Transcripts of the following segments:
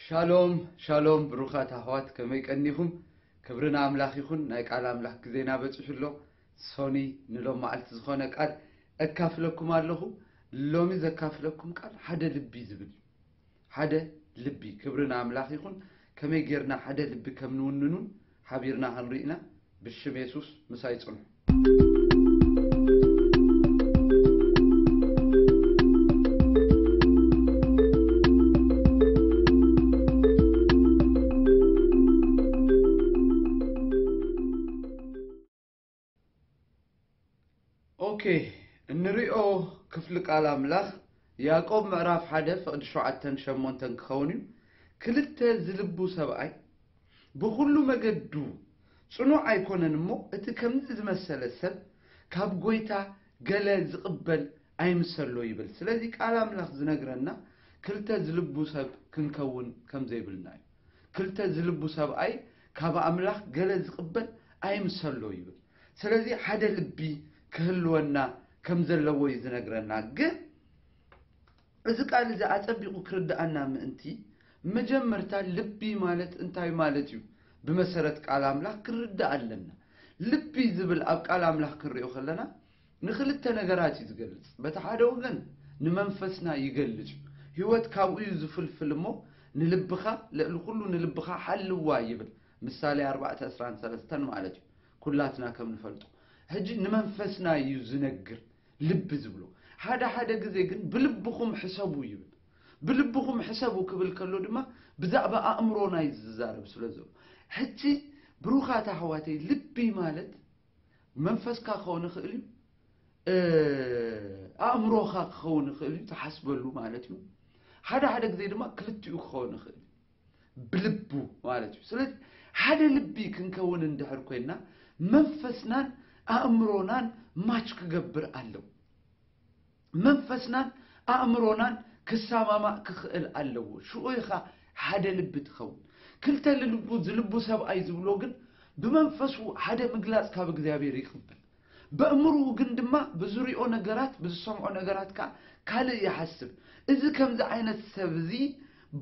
ሻሎም ሻሎም ብሩኻት ኣሕዋት፣ ከመይ ቀኒኹም? ክብሪ ንኣምላኽ ይኹን። ናይ ቃል ኣምላኽ ግዜና በጺሑ ኣሎ። ሶኒ ንሎም መዓልቲ ዝኾነ ቃል እካፍለኩም ኣለኹ። ሎሚ ዘካፍለኩም ቃል ሓደ ልቢ ዝብል እዩ። ሓደ ልቢ። ክብሪ ንኣምላኽ ይኹን። ከመይ ጌርና ሓደ ልቢ ከም ንውንኑን ሓቢርና ክንርኢ ኢና። ብሽም የሱስ ምሳይ ጽንሑ። ኦኬ፣ እንሪኦ ክፍሊ ቃል ኣምላኽ ያዕቆብ ምዕራፍ ሓደ ፍቕዲ ሸውዓተን ሸሞንተን ክኸውን እዩ። ክልተ ዝልቡ ሰብኣይ ብኹሉ መገዱ ጽኑዕ ኣይኮነን እሞ፣ እቲ ከምዚ ዝመሰለ ሰብ ካብ ጐይታ ገለ ዝቕበል ኣይምሰሎ ይብል። ስለዚ ቃል ኣምላኽ ዝነግረና ክልተ ዝልቡ ሰብ ክንከውን ከም ዘይብልና እዩ። ክልተ ዝልቡ ሰብኣይ ካብ ኣምላኽ ገለ ዝቕበል ኣይምሰሎ ይብል። ስለዚ ሓደ ልቢ ክህልወና ከም ዘለዎ እዩ ዝነግረና። ግን እዚ ቃል እዚ ኣጸቢቑ ክርድኣና ምእንቲ፣ መጀመርታ ልቢ ማለት እንታይ ማለት እዩ? ብመሰረት ቃል ኣምላኽ ክንርዳእ ኣለና። ልቢ ዝብል ኣብ ቃል ኣምላኽ ክንሪኦ ከለና ንኽልተ ነገራት እዩ ዝገልጽ። በቲ ሓደ ወገን ንመንፈስና ይገልጽ እዩ። ህይወት ካብኡ እዩ ዝፍልፍል እሞ፣ ንልብኻ፣ ልዕሊ ኩሉ ንልብኻ ሓልዋ ይብል። ምሳሌ ኣርባዕተ ዕስራን ሰለስተን ማለት እዩ። ኩላትና ከም ንፈልጦ። ሕጂ ንመንፈስና እዩ ዝነግር። ልቢ ዝብሎ። ሓደ ሓደ ግዜ ግን ብልብኹም ሕሰቡ ይብል። ብልብኹም ሕሰቡ ክብል ከሎ ድማ ብዛዕባ ኣእምሮና እዩ ዝዛረብ ስለ ዘሎ። ሕጂ ብሩኻት ኣሕዋተይ፣ ልቢ ማለት መንፈስካ ክኸውን ይኽእል እዩ፣ እ፣ ኣእምሮኻ ክኸውን ይኽእል እዩ፣ ትሓስበሉ ማለት እዩ። ሓደ ሓደ ግዜ ድማ ክልቲኡ ክኸውን ይኽእል እዩ፣ ብልቡ ማለት እዩ። ስለዚ ሓደ ልቢ ክንከውን እንድሕር ኮይንና መንፈስናን ኣእምሮናን ማች ክገብር ኣለዎ። መንፈስናን ኣእምሮናን ክሰማማዕ ክኽእል ኣለዎ። ሽዑ ኢኻ ሓደ ልቢ ትኸውን። ክልተ ልልቡ ዝልቡ ሰብኣይ ዝብሎ ግን ብመንፈሱ ሓደ ምግላጽ ካብ እግዚኣብሔር ይቕበል። በእምርኡ ግን ድማ ብዝሪኦ ነገራት፣ ብዝሰምዖ ነገራት ከኣ ካልእ ይሓስብ። እዚ ከምዚ ዓይነት ሰብ እዚ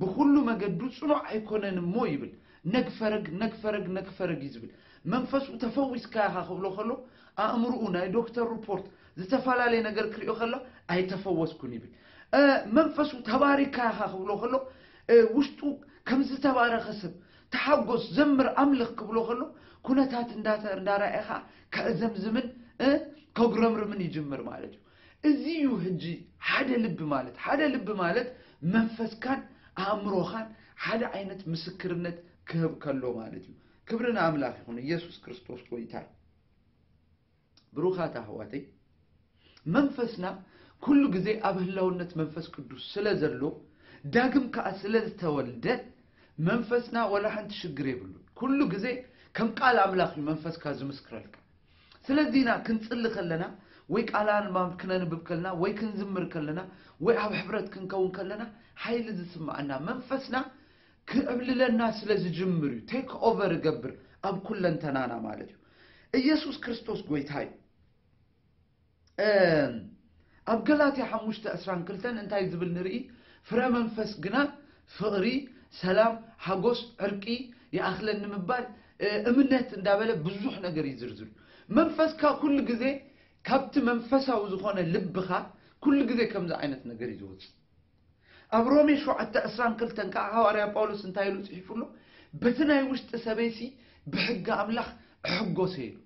ብኹሉ መገዱ ጽኑዕ ኣይኮነን እሞ ይብል። ነግፈረግ፣ ነግፈረግ፣ ነግፈረግ እዩ ዝብል። መንፈሱ ተፈዊስካ ኢኻ ክብሎ ከሎ፣ ኣእምርኡ ናይ ዶክተር ሪፖርት ዝተፈላለየ ነገር ክሪኦ ከሎ፣ ኣይተፈወስኩን ይብል። እ፣ መንፈሱ ተባሪካ ኢኻ ክብሎ ከሎ፣ እ፣ ውሽጡ ከም ዝተባረኸ ሰብ፣ ተሓጎስ፣ ዘምር፣ ኣምልኽ ክብሎ ከሎ፣ ኩነታት እንዳተ-፣ እንዳረኣየ ኸኣ ከዕዘምዝምን፣ እ፣ ከጉረምርምን ይጅምር ማለት እዩ። እዚ እዩ ሕጂ ሓደ ልቢ ማለት። ሓደ ልቢ ማለት መንፈስካን ኣእምሮኻን ሓደ ዓይነት ምስክርነት ክህብ ከሎ ማለት እዩ። ክብሪ ንኣምላኽ ይኹን። ኢየሱስ ክርስቶስ ጐይታ እዩ። ብሩኻት ኣሕዋተይ፣ መንፈስና ኩሉ ግዜ ኣብ ህላውነት መንፈስ ቅዱስ ስለ ዘሎ፣ ዳግም ከኣ ስለ ዝተወልደ፣ መንፈስና ወላ ሓንቲ ሽግር የብሉን። ኩሉ ግዜ ከም ቃል ኣምላኽ እዩ መንፈስካ ዝምስክረልካ። ስለዚ ኢና ክንጽሊ ከለና፣ ወይ ቃል ኣንባብ ክነንብብ ከለና፣ ወይ ክንዝምር ከለና፣ ወይ ኣብ ሕብረት ክንከውን ከለና፣ ሓይሊ ዝስምዓና። መንፈስና ክዕብልለና ስለ ዝጅምር እዩ። ቴክ ኦቨር ይገብር ኣብ ኩለንተናና ማለት እዩ። ኢየሱስ ክርስቶስ ጐይታ እዩ። እም፣ ኣብ ገላትያ ሓሙሽተ ዕስራን ክልተን እንታይ ዝብል ንርኢ? ፍረ መንፈስ ግና ፍቕሪ፣ ሰላም፣ ሓጎስ፣ ዕርቂ፣ ይኣኽለኒ ምባል፣ እ፣ እምነት እንዳበለ ብዙሕ ነገር ይዝርዝር። መንፈስካ ኩሉ ግዜ ካብቲ መንፈሳዊ ዝኾነ ልብኻ ኩሉ ግዜ ከምዚ ዓይነት ነገር እዩ ዝወጽእ። ኣብ ሮሜ ሸውዓተ ዕስራን ክልተን ከዓ ሃዋርያ ጳውሎስ እንታይ ኢሉ ጽሒፉ ኣሎ? በቲ ናይ ውሽጢ ሰበይሲ ብሕጊ ኣምላኽ እሕጎሰ ኢሉ።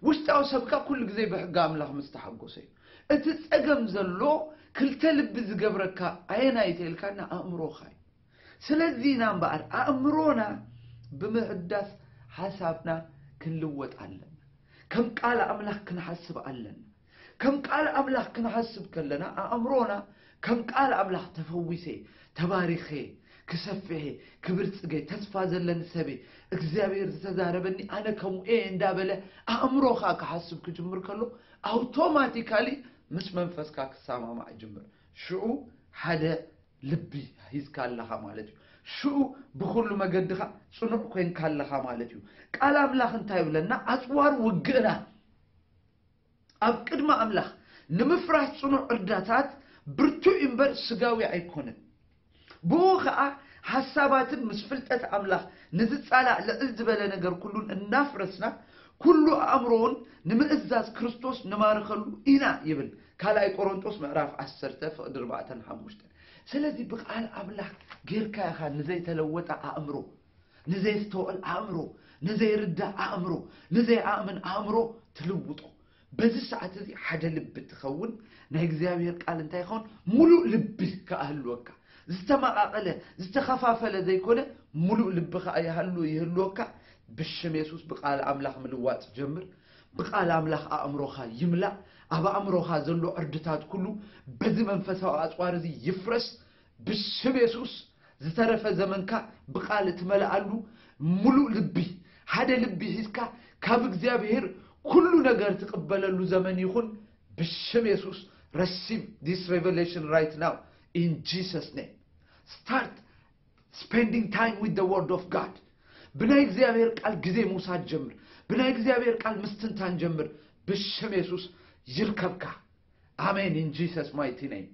ውሽጣዊ ሰብካ ኩሉ ግዜ ብሕጊ ኣምላኽ ምስ ተሓጎሰ እዩ። እቲ ጸገም ዘሎ ክልተ ልቢ ዝገብረካ ኣየናይ ተልካና? ኣእምሮኻ እዩ። ስለዚ ኢና እምበኣር ኣእምሮና ብምሕዳስ ሓሳብና ክንልወጥ ኣለና። ከም ቃል ኣምላኽ ክንሓስብ ኣለና። ከም ቃል ኣምላኽ ክንሓስብ ከለና ኣእምሮና ከም ቃል ኣምላኽ ተፈዊሰ፣ ተባሪኸ፣ ክሰፍሐ፣ ክብርጽገ፣ ተስፋ ዘለኒ ሰበ፣ እግዚኣብሔር ዝተዛረበኒ ኣነ ከምኡ እየ እንዳበለ ኣእምሮኻ ክሓስብ ክጅምር ከሎ ኣውቶማቲካሊ ምስ መንፈስካ ክሰማማዕ ይጅምር። ሽዑ ሓደ ልቢ ሂዝካ ኣለኻ ማለት እዩ። ሽዑ ብኹሉ መገድኻ ጽኑዕ ኮይንካ ኣለኻ ማለት እዩ። ቃል ኣምላኽ እንታይ ይብለና? ኣጽዋር ውግእና ኣብ ቅድሚ ኣምላኽ ንምፍራስ ጽኑዕ እርዳታት ብርቱዕ እዩ እምበር ስጋዊ ኣይኮነን። ብኡ ኸዓ ሓሳባትን ምስ ፍልጠት ኣምላኽ ንዝጻላእ ልዕል ዝበለ ነገር ኩሉን እናፍረስና ኩሉ ኣእምሮውን ንምእዛዝ ክርስቶስ ንማርኸሉ ኢና ይብል ካልኣይ ቆሮንጦስ ምዕራፍ ዓሰርተ ፍቕዲ ኣርባዕተን ሓሙሽተን። ስለዚ ብቃል ኣምላኽ ጌርካ ኢኻ ንዘይተለወጠ ኣእምሮ፣ ንዘይስተውዕል ኣእምሮ፣ ንዘይርዳእ ኣእምሮ፣ ንዘይኣምን ኣእምሮ ትልውጦ። በዚ ሰዓት እዚ ሓደ ልቢ ትኸውን። ናይ እግዚኣብሔር ቃል እንታይ ይኸውን? ሙሉእ ልቢ ከኣህልወካ። ዝተመቓቐለ ዝተኸፋፈለ ዘይኮነ፣ ሙሉእ ልቢ ከኣ ይሃሉ ይህልወካ። ብሽም የሱስ ብቃል ኣምላኽ ምልዋጥ ጀምር። ብቃል ኣምላኽ ኣእምሮኻ ይምላእ። ኣብ ኣእምሮኻ ዘሎ ዕርድታት ኩሉ በዚ መንፈሳዊ ኣጽዋር እዚ ይፍረስ። ብስም የሱስ ዝተረፈ ዘመንካ ብቃል እትመልኣሉ፣ ሙሉእ ልቢ፣ ሓደ ልቢ ሒዝካ ካብ እግዚኣብሔር ኩሉ ነገር ትቕበለሉ ዘመን ይኹን። ብስም የሱስ፣ receive this revelation right now in Jesus name. Start spending time with the word of God. ብናይ እግዚኣብሔር ቃል ግዜ ምውሳድ ጀምር። ብናይ እግዚኣብሔር ቃል ምስትንታን ጀምር። ብስም የሱስ ይርከብካ። ኣሜን። In Jesus mighty name.